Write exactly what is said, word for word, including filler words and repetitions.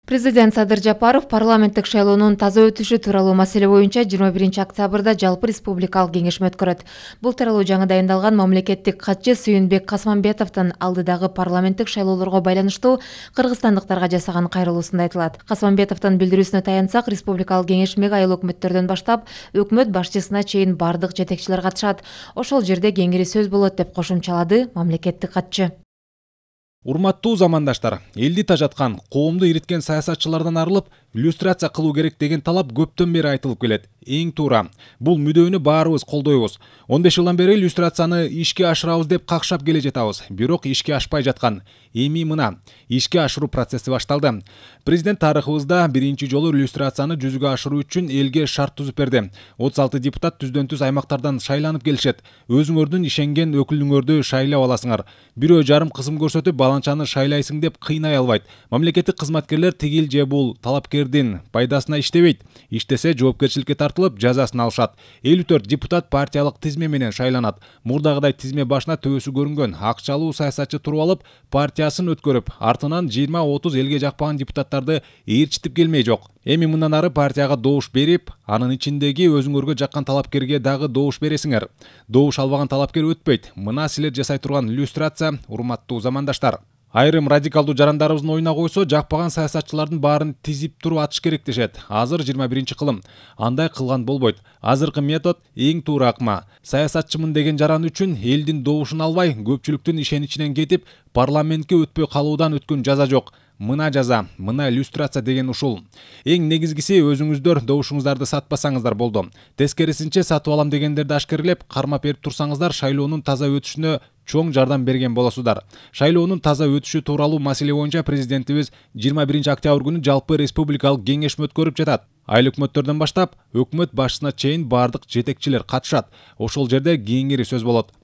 Президент Садыр Жапаров парламенттик шайлоонун таза өтүшү тууралуу маселе боюнча жыйырма биринчи октябрда жалпы республикалык кеңешме өткөрөт. Бул тууралуу жаңы дайындалган мамлекеттик катчы Сүйүнбек Касманбетовдун алдыдагы парламенттик шайлоолорго байланыштуу кыргызстандыктарга жасаган кайрылуусунда айтылат. Касманбетовдун билдирүүсүнө таянсак, республикалык кеңешмеге айыл өкмөттөрдөн баштап өкмөт башчысына чейин бардык жетекчилер катышат. Ошол жерде кеңири сөз болот деп кошумчалады мамлекеттик катчы. Урматтуу замандаштар, элди тажаткан, коомду ириткен саясатчылардан арылып, иллюстрация кылуу керек деген талап көптөн бери айтылып келет. Эң туура. Бул мүдөнү баарыбыз колдойбуз. он беш жылдан бери иллюстрацияны ишке ашырабыз деп какшап келе жатабыз. Бирок ишке ашпай жаткан. Эми мына, ишке ашыруу процесси башталды. Президент тарыхыбызда биринчи жолу иллюстрацияны жүзүгө ашыруу үчүн элге шарт түзүп берди. отуз алты депутат түздөн түз аймактардан шайланып келишет. Өзүңөрдүн ишенген өкүлүңөрдү шайлап аласыңар. Бирөө жарым кысым көрсөтүп баланчаны шайлайсың деп кыйнай албайт. Мамлекеттик кызматкерлер тигил же бул талапкердин пайдасына иштебейт. Иштесе жоопкерчиликке тартылып, жазасын алышат. элүү төрт депутат партиялык тизме менен шайланат. Мурдагыдай тизме башына төбөсү көрүнгөн акчалуу саясатчы туруп алып, партиясын өткөрүп, артынан жыйырма отуз элге жакпаган депутаттарды ээрчитип келмей жок. Эми мындан ары партияга добуш берип, анын ичиндеги өзүңөргө жаккан талапкерге дагы добуш бересиңер. Добуш албаган талапкер өтпөйт. Мына силер жасай турган иллюстрация, урматтуу замандаштар. Айрым радикалдуу жарандарыбыздын оюна койсо, жакпаган саясатчылардын баарын тизип туруп атыш керек дешет. Азыр жыйырма биринчи кылым. Андай кылган болбойт. Азыркы метод эң туура акма. Саясатчымын деген жаран үчүн элдин добушун албай, көпчүлүктүн ишеничинен кетип, парламентке өтпөй калуудан өткөн жаза жок. Мына жаза, мына иллюстрация деген ушул. Эң негизгиси өзүңүздөр добушуңуздарды сатпасаңыздар болду. Тескерисинче сатып алам дегендерди ашкерлеп, кармап берип турсаңыздар, шайлоонун таза өтүшүнө чоң жардам берген болосуздар. Шайлоонун таза өтүшү тууралуу маселе боюнча президентибиз жыйырма биринчи октябрь күнү жалпы республикалык кеңешме өткөрүп жатат. Айыл өкмөттөрдөн баштап, өкмөт башчысына чейин бардык жетекчилер катышат. Ошол жерде кеңири сөз болот.